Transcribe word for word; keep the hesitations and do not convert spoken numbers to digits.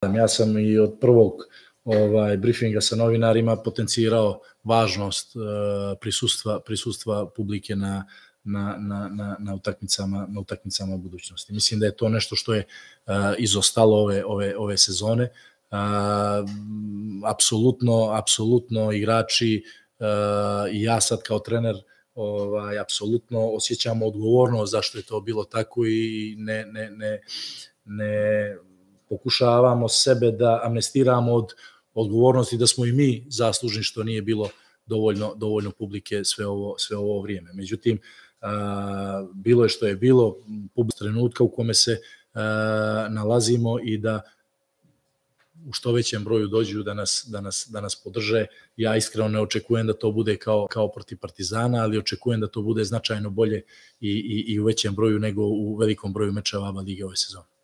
Ja sam i od prvog ovaj, briefinga sa novinarima potencirao važnost uh, prisustva, prisustva publike na, na, na, na, na, utakmicama, na utakmicama budućnosti. Mislim da je to nešto što je uh, izostalo ove, ove, ove sezone. Uh, apsolutno, apsolutno igrači uh, i ja sad kao trener ovaj, apsolutno osjećamo odgovornost zašto je to bilo tako i ne, ne, ne, ne pokušavamo sebe da amnestiramo od odgovornosti da smo i mi zaslužni što nije bilo dovoljno, dovoljno publike sve ovo, sve ovo vrijeme. Međutim, a, bilo je što je bilo, publika trenutka u kome se a, nalazimo i da u što većem broju dođu da nas, da nas, da nas podrže. Ja iskreno ne očekujem da to bude kao, kao protiv Partizana, ali očekujem da to bude značajno bolje i, i, i u većem broju nego u velikom broju mečeva A B A lige ove sezone.